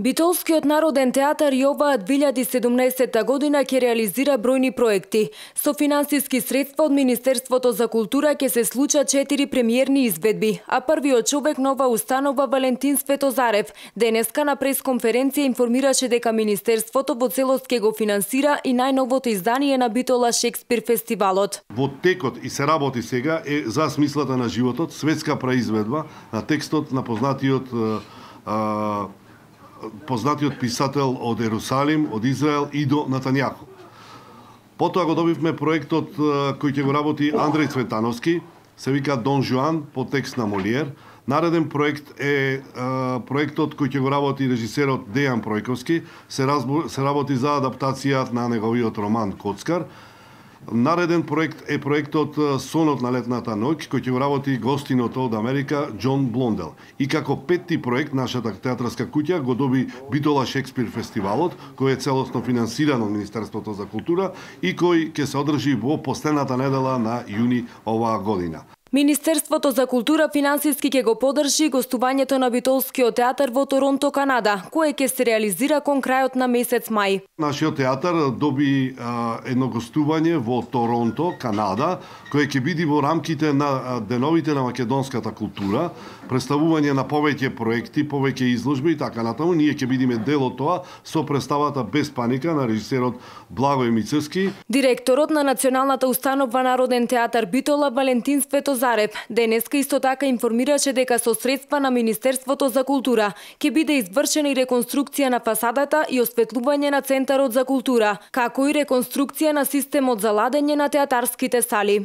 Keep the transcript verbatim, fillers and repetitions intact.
Битолскиот народен театар и оваа две илјади и седумнаесетта година ќе реализира бројни проекти. Со финансиски средства од Министерството за култура ќе се случат четири премиерни изведби, а првиот човек на оваа установа Валентин Светозарев денеска на пресконференција информираше дека Министерството во целост ќе го финансира и најновото издание на Битола Шекспир фестивалот. Во текот и се работи сега е за смислата на животот, светска преизведба на текстот на познатиот а, познатиот писател од Ерусалим, од Израел, Идо Натањаху. Потоа го добивме проектот кој ќе го работи Андреј Цветановски, се вика Дон Жуан по текст на Молиер. Нареден проект е а, проектот кој ќе го работи режисерот Дејан Пројковски, се, разбу, се работи за адаптација на неговиот роман Коцкар. Нареден проект е проектот Сонот на летната ноќ, кој ќе го работи гостиното од Америка Џон Блондел. И како петти проект, нашата театарска куќа го доби Битола Шекспир фестивалот, кој е целосно финансиран од Министерството за култура и кој ќе се одржи во последната недела на јуни оваа година. Министерството за култура финансиски ќе го поддржи гостувањето на Битолскиот театар во Торонто, Канада, кое ќе се реализира кон крајот на месец мај. Нашиот театар доби а, едно гостување во Торонто, Канада, кое ќе биде во рамките на деновите на македонската култура, представување на повеќе проекти, повеќе изложби и така натаму. Ние ќе бидеме дел од тоа со представата Без паника на режисерот Благој Мицевски. Директорот на Националната установа Народен театар Битола Валентин Светозарев денеска исто така информираше дека со средства на Министерството за култура ќе биде извршена и реконструкција на фасадата и осветлување на Центарот за култура, како и реконструкција на системот за ладење на театарските сали.